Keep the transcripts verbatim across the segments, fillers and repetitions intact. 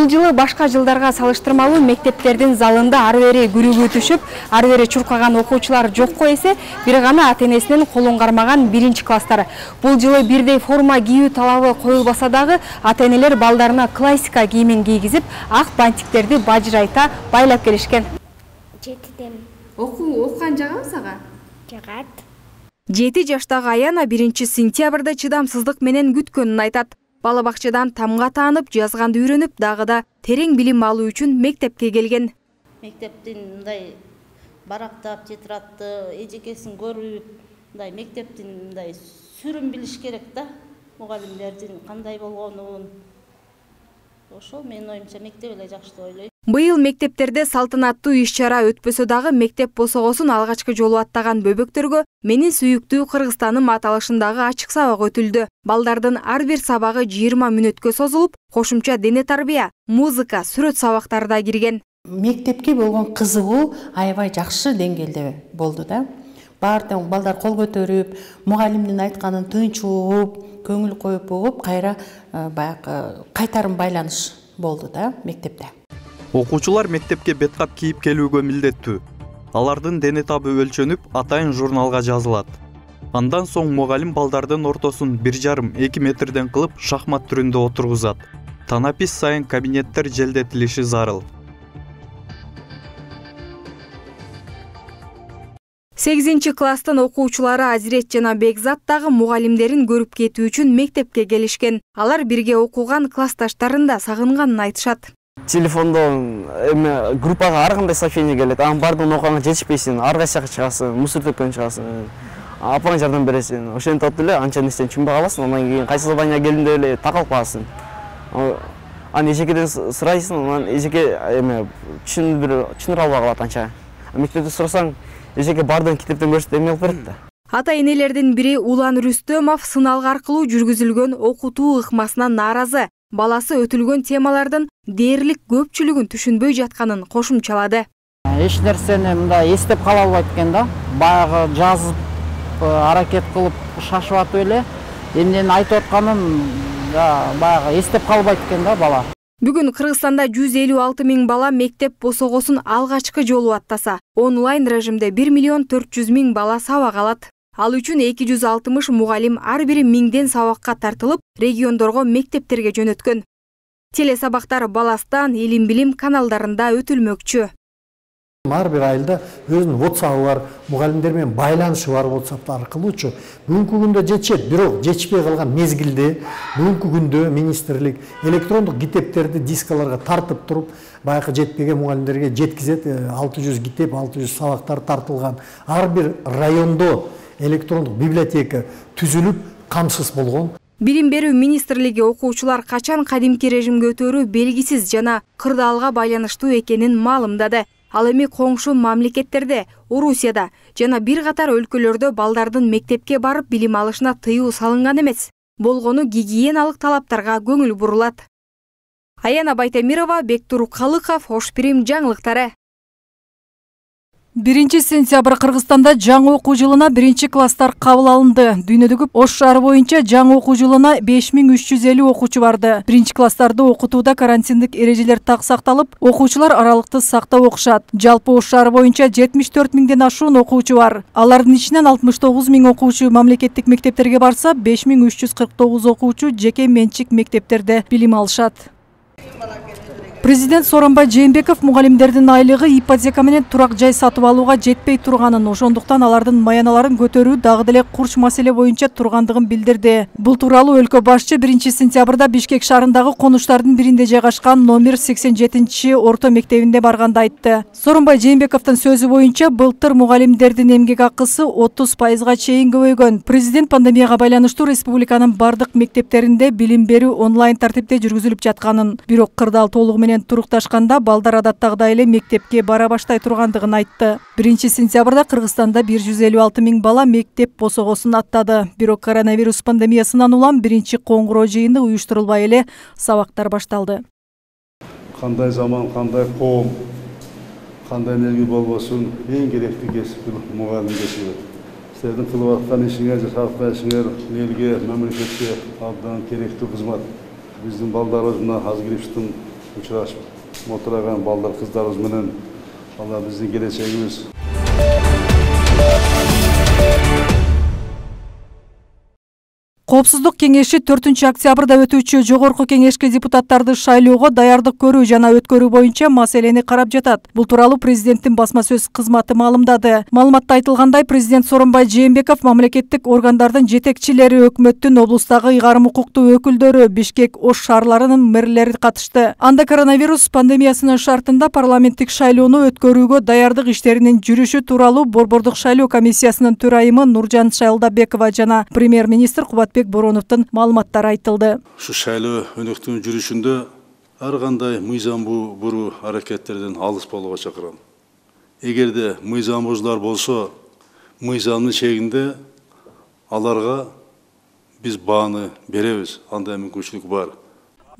Бул жылы башка жылдарга салыштырмалуу мектептердин залында ары бери күрүгү түшүп, ары бери чуркаган окуучулар жокко эсе, бир гана ата-энесинин колун кармаган биринчи класстар. Бул жылы бирдей форма кийүү талабы коюлбаса дагы, ата-энелер балдарына классика кийимин кийгизип, ак бантиктерди бажырайта байлап келишкен. Жетиден. Окуу окуган жагабы сага? Жагат. жети жаштагы Аяна биринчи сентябрда чыдамсыздык менен күткөнүн айтат. Бала бакчадан тамга таанып, жазганды үйрөнүп, дагы да терең билим алуу үчүн мектепке келген. Мектептин мындай барактап, тетрадты, эжекесин көрүп, мындай мектептин мындай сүрүн билиш керек да, мугалимдердин кандай болгонун. Ошол менин оюмча мектеп эле жакшы деп ойлойм. Быйыл мектептерде салтанаттуу иш-чара өтпөсө дагы мектеп босогосун алгачкы жолу аттаган бөбөктөргө менин сүйүктүү Кыргызстаным аталышындагы ачык сабак өтүлдү. Балдардын ар бир сабагы жыйырма мүнөткө созулуп, кошумча дене тарбия, музыка, сүрөт сабактары да кирген. Мектепке болгон кызыгуу аябай жакшы деңгээлде болду да. Баардык балдар кол көтөрүп, мугалимдин айтканын тынч угуп, көңүл коюп угуп, кайра баягы кайтарым байланыш болду да мектепте. Окуучулар мектепке беткап кийип келүүгө милдеттүү. Алардын дене табы өлчөнүп, атайын журналга жазылат. Андан соң мугалим балдардын ортосун бир жарым эки метрден кылып шахмат түрүндө отургузат. Танапис сайын кабинеттер желдетилиши зарыл. сегизинчи класстын окуучулары Азирет жана Бекзат дагы мугалимдерин көрүп кетүү үчүн мектепке келишкен. Алар бирге окуган классташтарын да сагынганын айтышат. Телефондо эме группага ар кандай сообщение келет. Анын бардыгын окуганга жетишпейсиң, ар кайсыга чыгасың, мусор төккөн чыгасың. Апаң жардам бересиң. Ошентип эле анча нерседен түшүнбөй каласың. Андан кийин кайсы задания келгенде эле такалып каласың. Аны эжекеден сурайсың, анан эжеке эме түшүндүрө түшүндүрө албай калат анча. Мектепте сурасаң, эжеке бардыгын китептен көрсөтүп эме алып берет да. Ата-энелердин бири Улан Рүстөмов сыналгы аркылуу жүргүзүлгөн окутуу ыкмасына нааразы. Баласы өтүлгөн темалардын дээрлик көпчүлүгүн түшүнбөй жатканын кошумчалады. Эч нерсени мындай эстеп кала албайт экен да. Баягы жазып, аракет кылып шашып атып эле эмнени айтып атканын баягы эстеп калбайт экен да бала. Бүгүн Кыргызстанда жүз элүү алты миң бала мектеп босогосун алгачкы жолу аттаса, онлайн режимде бир миллион төрт жүз миң бала сабак алат. Ал үчүн эки жүз алтымыш мугалим ар бири миңден сабакка тартылып, региондорго мектептерге жөнөткөн. Теле сабактар Баластан, Илим билим каналдарында өтүлмөкчү. Ар бир айылда өзүнүн WhatsApp бар, мугалимдер менен байланышы бар WhatsApp аркылуучу. Бүгүнкү күндө жетишет, бирок жетишпей калган мезгилде бүгүнкү күндө министрлик электрондук китептерди дискаларга тартып туруп, баягы жетпеген мугалимдерге жеткизет. алты жүз китеп, алты жүз сабактар тартылган. Ар бир райондо электрондук библиотека түзүлүп, камсыз болгон. Билим берүү министрлиги окуучулар качан кадимки режимге өтөрү белгисиз жана кырдаалга байланыштуу экенин маалымдады. Ал эми коңшу мамлекеттерде, Орусияда жана бир катар өлкөлөрдө балдардын мектепке барып билим алышына тыюу салынган эмес. Болгону гигиеналык талаптарга көңүл бурулат. Аяна Байтемирова, Бектур Калыков, Ош Пирим жаңылыктары. биринчи сентябрь Кыргызстанда жаңы окуу жылына биринчи класстар кабыл алынды. Дүйнөдөгү Ош шаары боюнча жаңы окуу жылына беш миң үч жүз элүү окуучу барды. Биринчи класстарды окутууда карантиндик эрежелер так сакталып, окуучулар аралыкты сактап окушат. Жалпы Ош шаары боюнча жетимиш төрт миңден ашуун окуучу бар. Алардын ичинен алтымыш тогуз миң окуучу мамлекеттик мектептерге барса, беш миң үч жүз кырк тогуз окуучу жеке менчик мектептерде билим алышат. Президент Сооронбай Жээнбеков мугалимдердин айлыгы ипотека менен турак жай сатып алууга жетпей турганын, ошондуктан алардын маяналарын көтөрүү дагы деле курч маселе боюнча тургандыгын билдирди. Бул тууралуу өлкө башчы биринчи сентябрда Бишкек шаарындагы конуштардын биринде жайгашкан номер сексен жетинчи орто мектебинде барганда айтты. Сооронбай Жээнбековдун сөзү боюнча, былтыр мугалимдердин эмгек акысы отуз пайызга чейин көбөйгөн. Президент пандемияга байланыштуу республиканын бардык мектептеринде билим берүү онлайн тартипте жүргүзүлүп жатканын, бирок кырдаал толугу менен турукташканда балдар адаттагыдай эле мектепке бара баштай тургандыгын айтты. биринчи сентябрда Кыргызстанда бир жүз элүү алты миң бала мектеп босогосун аттады. Бирок коронавирус пандемиясынан улам биринчи коңгуроо жыйыны уюштурулбай эле сабактар башталды. Кандай заман, кандай коом, кандай мелги болбосун, эң керектүү кесип мугалим кесиби. Силердин кылып аткан ишиңер, жасап аткан ишиңер элге, мамлекетке абдан керектүү кызмат. Биздин балдарыбыз мына азыр кириптин учурашып отурган балдар, кыздарыбыз менен алар биздин келечегибиз. Коопсуздук кеңеши төртүнчү октябрда өтүүчү жогорку кеңешке депутаттарды шайлоого даярдык көрүү жана өткөрүү боюнча маселени карап жатат. Бул тууралуу президенттин басма сөз кызматы маалымдады. Маалыматта айтылгандай, президент Сооронбай Жээнбеков мамлекеттик органдардын жетекчилери, өкмөттүн облустагы ыйгарым укуктуу өкүлдөрү, Бишкек, Ош шаарларынын мэрлери катышты. Анда коронавирус пандемиясынын шартында парламенттик шайлоону өткөрүүгө даярдык иштеринин жүрүшү тууралуу Борбордук шайлоо комиссиясынын төрайымы Нуржан Шайлдабекова жана премьер-министр Кубатбек Бороновдун маалыматтары айтылды. Ушу шайлоо өнөктүгүнүн жүрүшүндө ар кандай мыйзам буруу аракеттерден алыс болууга чакырам. Эгерде мыйзам бузуулар болсо, мыйзамдын чегинде аларга биз бааны беребиз. Андай мүмкүнчүлүк бар.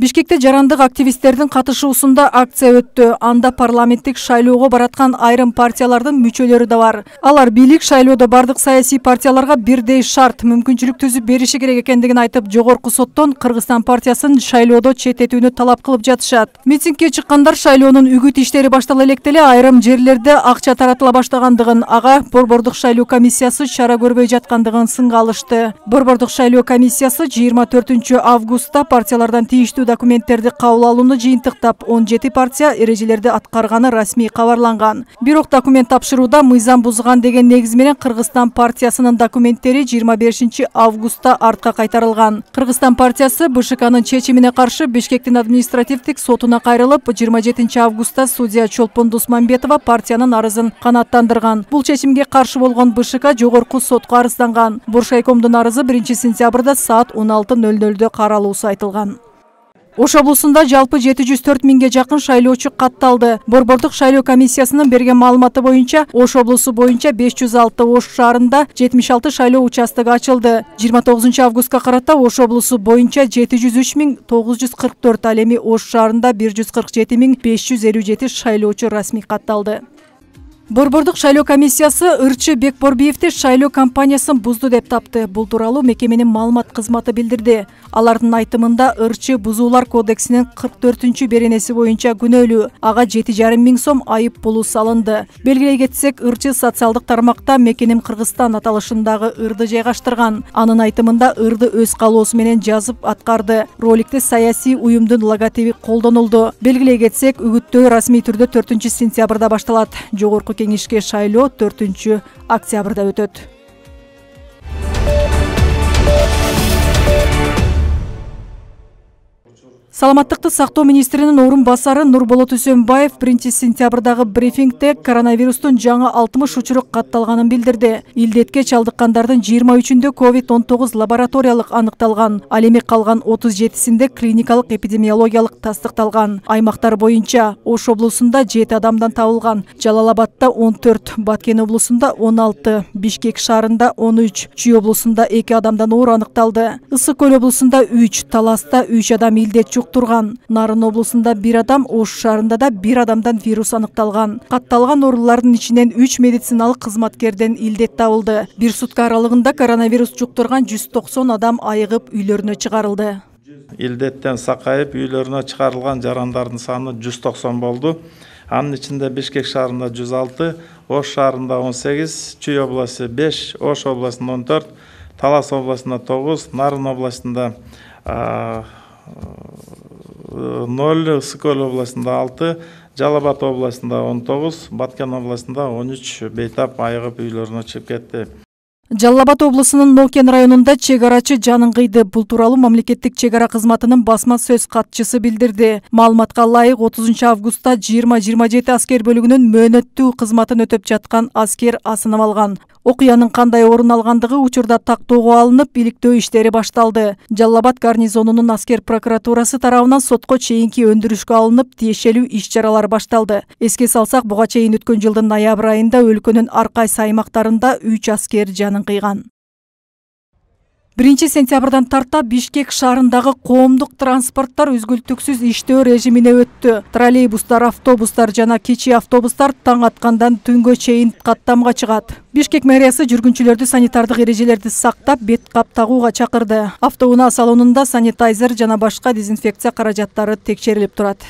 Бишкекте жарандык активисттердин катышуусунда акция өттү. Анда парламенттик шайлоого бараткан айрым партиялардын мүчөлөрү да бар. Алар бийлик шайлоодо бардык саясий партияларга бирдей шарт, мүмкүнчүлүк түзүп бериши керек экендигин айтып, жогорку соттон Кыргызстан партиясын шайлоодо четтетүүнү талап кылып жатышат. Митингге чыккандар шайлоонун үгүт иштери баштала электе эле айрым жерлерде акча таратыла баштагандыгын, ага Борбордук шайлоо комиссиясы чара көрбөй жаткандыгын сынга алышты. Борбордук шайлоо комиссиясы жыйырма төртүнчү августта партиялардан тийиштүү документтерди кабыл алууну жыйынтыктап, он жети партия эрежелерди аткарганы расмий кабарланган. Бирок документ тапшырууда мыйзам бузган деген негиз менен Кыргызстан партиясынын документтери жыйырма бешинчи августта артка кайтарылган. Кыргызстан партиясы БШКнын чечимине каршы Бишкектин административдик сотуна кайрылып, жыйырма жетинчи августта судья Чолпон Дусманбетова партиянын арызын канааттандырган. Бул чечимге каршы болгон БШК жогорку сотко арызданган. Боршайкомдун арызы биринчи сентябрда саат он алты ноль нольдо каралуусу айтылган. Ош облусунда жалпы жети жүз төрт миңге жакын шайлоочу катталды. Борбордук шайлоо комиссиясынын берген маалыматы боюнча, Ош облусу боюнча беш жүз алты, Ош шаарында жетимиш алты шайлоо участогу ачылды. жыйырма тогузунчу августка карата Ош облусу боюнча жети жүз үч миң тогуз жүз кырк төрт, ал эми Ош шаарында бир жүз кырк жети миң беш жүз элүү жети шайлоочу расмий катталды. Борбордук шайлоо комиссиясы Ырчы Бекборбиевди шайлоо кампаниясын бузду деп тапты. Бул тууралуу мекеменин маалымат кызматы билдирди. Алардын айтымында Ырчы бузуулар кодексинин кырк төртүнчү беренеси боюнча күнөөлүү. Ага жети жарым миң сом айып пулу салынды. Белгилей кетсек, Ырчы социалдык тармакта Мекеним Кыргызстан аталышындагы ырды жайгаштырган. Анын айтымында ырды өз калоосу менен жазып аткарды. Роликте саясий уюмдун логотиби колдонулду. Белгилей кетсек, үгүттөө расмий түрдө төртүнчү сентябрда башталат. Жогорку кеңешке шайлоо төртүнчү октябрда өтөт. Саламаттыкты сактоо министринин орун басары Нурболот Үсөнбаев биринчи сентябрдагы брифингде коронавирустун жаңы алтымыш учуру катталганын билдирди. Илдетке чалдыккандардын жыйырма үчүндө ковид он тогуз лабораториялык аныкталган, ал эми калган отуз жетисинде клиникалык эпидемиологиялык тастыкталган. Аймактар боюнча Ош облусунда жети адамдан табылган, Жалал Абадта он төрт, Баткен облусунда он алты, Бишкек шаарында он үч, Чүй облусунда эки адамдан оор аныкталды. Ысык көл облусунда үч, Таласта үч адам илдет турган. Нарын облусунда бир адам, Ош шаарында да бир адамдан вирус аныкталган. Катталган оорулардын ичинен үч медициналык кызматкерден илдет табылды. Бир сутка аралыгында коронавирус жуктурган жүз токсон адам айыгып үйлөрүнө чыгарылды. Илдеттен сакайып үйлөрүнө чыгарылган жарандардын саны жүз токсон болду. Анын ичинде Бишкек шаарында жүз алты, Ош шаарында он сегиз, Чүй областы беш, Ош областында он төрт, Талас областында тогуз, Нарын областында ноль, Ысык-Көл областында алты, Жалал Абад областында он тогуз, Баткен областында он үч бейтап айыгып үйлөрүнө чыгып кетти. Жалал Абад облусунун Нокен районунда чек арачы жанын кыйды. Бул тууралуу мамлекеттик чек ара кызматынын басма сөз катчысы билдирди. Маалыматка ылайык отузунчу августта жыйырма жыйырма жети аскер бөлүгүнүн мөөнөттүү кызматын өтөп жаткан аскер асынып алган. Окуянын кандай орун алгандыгы учурда тактоого алынып, иликтөө иштери башталды. Жалал Абад гарнизонунун аскер прокуратурасы тарабынан сотко чейинки өндүрүшкө алынып, тиешелүү иш чаралар башталды. Эске салсак, буга чейин өткөн жылдын ноябрь айында өлкөнүн ар кайсы аймактарында үч аскер жанын кыйган. биринчи сентябрдан тарта Бишкек шаарындагы коомдук транспорттор үзгүлтүксүз иштөө режимине өттү. Троллейбустар, автобустар жана кичи автобустар таң аткандан түнгө чейин каттамга чыгат. Бишкек мэриясы жүргүнчүлөрдү санитардык эрежелерди сактап, бет кап тагууга чакырды. Автоунаа салонунда санитайзер жана башка дезинфекция каражаттары текшерилип турат.